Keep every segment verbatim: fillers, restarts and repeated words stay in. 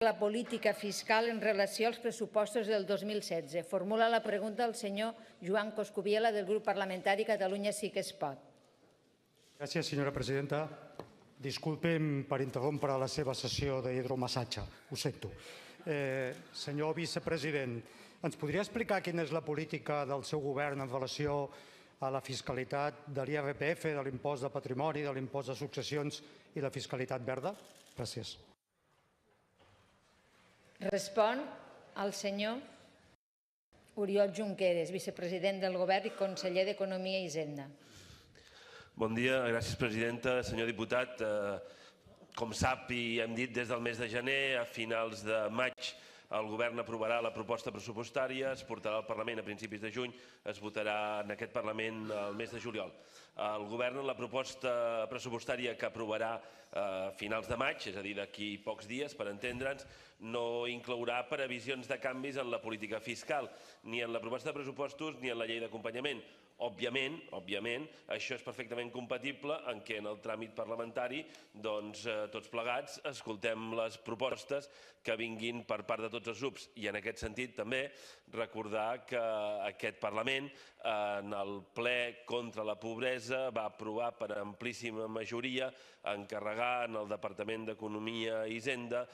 la política fiscal en relació als pressupostos del dos mil setze. Formula la pregunta el senyor Joan Coscubiela, del grup parlamentari Catalunya Sí que es pot. Gràcies, senyora presidenta. Disculpem per interrompre la seva sessió d'hidromassatge. Ho sento. Eh, senyor vicepresident, ens podria explicar quina és la política del seu govern en relació a la fiscalitat de l'I R P F, de l'impost de patrimoni, de l'impost de successions i la fiscalitat verda? Gràcies. Respon el senyor Oriol Junqueras, vicepresident del Govern i conseller d'Economia i Hisenda. Bon dia, gràcies presidenta. Senyor diputat, com sap i hem dit des del mes de gener, a finals de maig el Govern aprovarà la proposta pressupostària, es portarà al Parlament a principis de juny, es votarà en aquest Parlament el mes de juliol. El Govern, en la proposta pressupostària que aprovarà a finals de maig, és a dir, d'aquí pocs dies, per entendre'ns, no inclourà previsions de canvis en la política fiscal, ni en la proposta de pressupostos ni en la llei d'acompanyament. Òbviament, òbviament, això és perfectament compatible en què en el tràmit parlamentari, doncs, tots plegats, escoltem les propostes que vinguin per part de tots els grups. I en aquest sentit també recordar que aquest Parlament, en el ple contra la pobresa, va aprovar per amplíssima majoria encarregar en el Departament d'Economia i Hisenda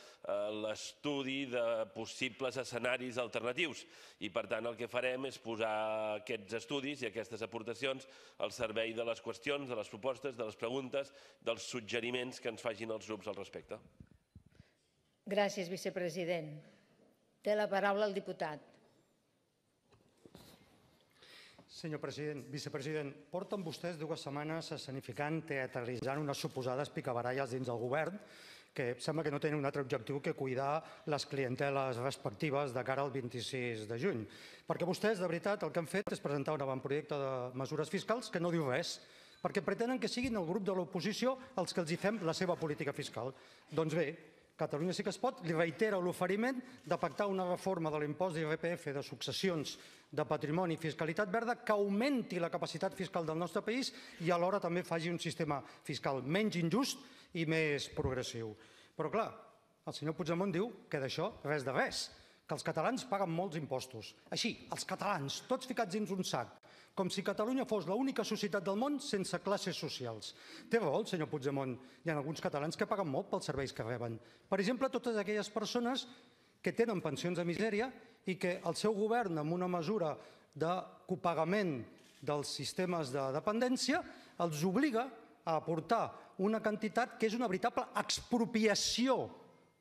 l'estudi de possibles escenaris alternatius. I per tant el que farem és posar aquests estudis i aquestes aportacions al servei de les qüestions, de les propostes, de les preguntes, dels suggeriments que ens facin els grups al respecte. Gràcies, vicepresident. Té la paraula el diputat. Senyor president, vicepresident, porten vostès dues setmanes escenificant, teatralitzant unes suposades picabaralles dins del govern que sembla que no tenen un altre objectiu que cuidar les clienteles respectives de cara al vint-i-sis de juny. Perquè vostès, de veritat, el que han fet és presentar un avantprojecte de mesures fiscals que no diu res, perquè pretenen que siguin el grup de l'oposició els que els hi fem la seva política fiscal. Doncs bé, Catalunya Sí que es pot li reitera l'oferiment de pactar una reforma de l'impost d'I R P F de successions, de patrimoni i fiscalitat verda que augmenti la capacitat fiscal del nostre país i alhora també faci un sistema fiscal menys injust i més progressiu. Però clar, el senyor Puigdemont diu que d'això res de res, que els catalans paguen molts impostos. Així, els catalans, tots ficats dins un sac, com si Catalunya fos l'única societat del món sense classes socials. Té raó el senyor Puigdemont. Hi ha alguns catalans que paguen molt pels serveis que reben. Per exemple, totes aquelles persones que tenen pensions de misèria i que el seu govern, amb una mesura de copagament dels sistemes de dependència, els obliga a aportar una quantitat que és una veritable expropiació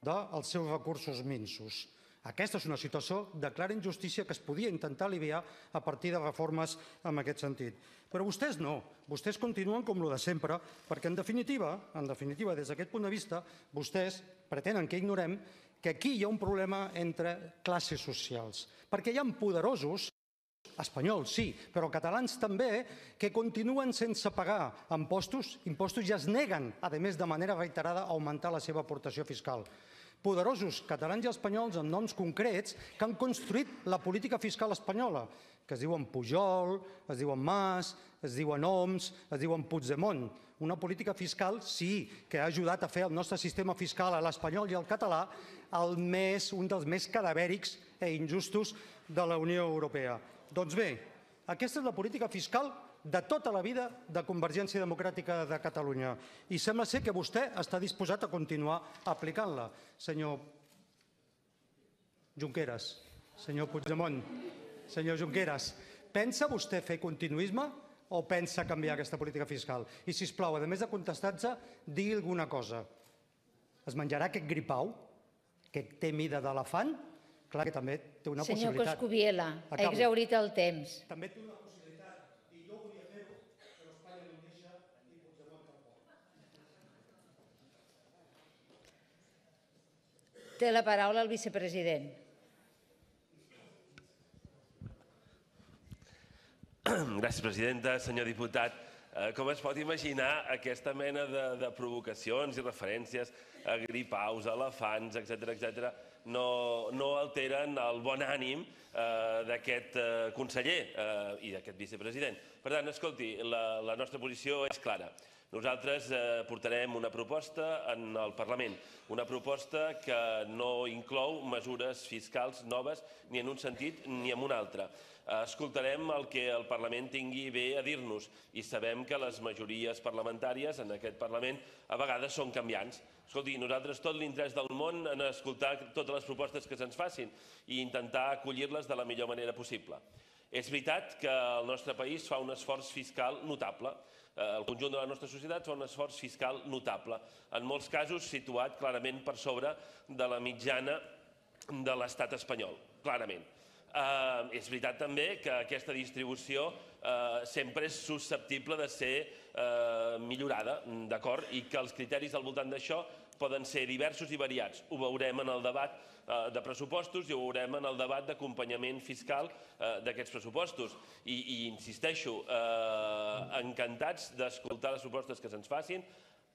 dels seus recursos minsos. Aquesta és una situació de clara injustícia que es podia intentar aliviar a partir de reformes en aquest sentit. Però vostès no, vostès continuen com el de sempre, perquè en definitiva, en definitiva, des d'aquest punt de vista, vostès pretenen que ignorem que aquí hi ha un problema entre classes socials, perquè hi ha poderosos, espanyols sí, però catalans també, que continuen sense pagar impostos, impostos i es neguen, a més de manera reiterada, a augmentar la seva aportació fiscal. Poderosos catalans i espanyols amb noms concrets que han construït la política fiscal espanyola, que es diuen Pujol, es diuen Mas, es diuen Homs, es diuen Puigdemont. Una política fiscal, sí, que ha ajudat a fer el nostre sistema fiscal a l'espanyol i al català un dels més cadavèrics i injustos de la Unió Europea. Doncs bé, aquesta és la política fiscal de tota la vida de Convergència Democràtica de Catalunya. I sembla ser que vostè està disposat a continuar aplicant-la. Senyor Junqueras, senyor Puigdemont, senyor Junqueras, pensa vostè fer continuisme o pensa canviar aquesta política fiscal? I, sisplau, a més de contestar-se, digui alguna cosa. Es menjarà aquest gripau, que té mida d'elefant? Clar que també té una possibilitat. Senyor Coscubiela, ha exhaurit el temps. També té una possibilitat, i jo volia fer-ho, però Espanya no em deixa i Puigdemont tampoc. Té la paraula el vicepresident. Gràcies, presidenta. Senyor diputat, com es pot imaginar, aquesta mena de provocacions i referències a gripaus, a elefants, etcètera, etcètera, no alteren el bon ànim d'aquest conseller i d'aquest vicepresident. Per tant, escolti, la nostra posició és clara. Nosaltres portarem una proposta en el Parlament, una proposta que no inclou mesures fiscals noves ni en un sentit ni en un altre. Escoltarem el que el Parlament tingui bé a dir-nos i sabem que les majories parlamentàries en aquest Parlament a vegades són canviants. Escolti, nosaltres tot l'interès del món en escoltar totes les propostes que se'ns facin i intentar acollir-les de la millor manera possible. És veritat que el nostre país fa un esforç fiscal notable. El conjunt de la nostra societat fa un esforç fiscal notable, en molts casos situat clarament per sobre de la mitjana de l'estat espanyol, clarament. És veritat també que aquesta distribució sempre és susceptible de ser millorada, d'acord? I que els criteris al voltant d'això poden ser diversos i variats. Ho veurem en el debat de pressupostos i ho veurem en el debat d'acompanyament fiscal d'aquests pressupostos. I insisteixo, encantats d'escoltar les propostes que se'ns facin,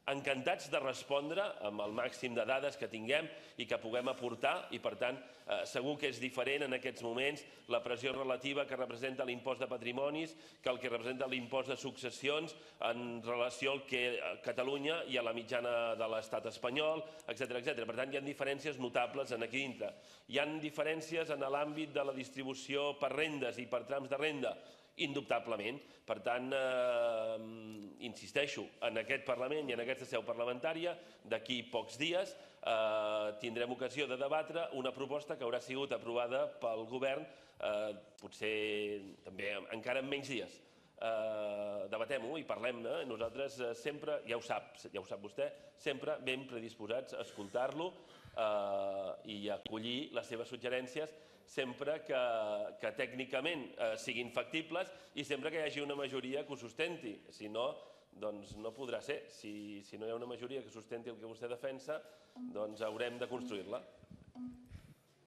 encantats de respondre amb el màxim de dades que tinguem i que puguem aportar i, per tant, segur que és diferent en aquests moments la pressió relativa que representa l'impost de patrimonis que el que representa l'impost de successions en relació al que a Catalunya i a la mitjana de l'estat espanyol, etcètera. Per tant, hi ha diferències notables aquí dintre. Hi ha diferències en l'àmbit de la distribució per rendes i per trams de renda, indubtablement. Per tant, insisteixo, en aquest Parlament i en aquesta seu parlamentària, d'aquí pocs dies, tindrem ocasió de debatre una proposta que haurà sigut aprovada pel govern, potser també encara en menys dies. Debatem-ho i parlem-ne. Nosaltres sempre, ja ho sap, ja ho sap vostè, sempre ben predisposats a escoltar-lo i a acollir les seves suggerències sempre que tècnicament siguin factibles i sempre que hi hagi una majoria que ho sustenti. Si no, doncs no podrà ser. Si no hi ha una majoria que sustenti el que vostè defensa, doncs haurem de construir-la.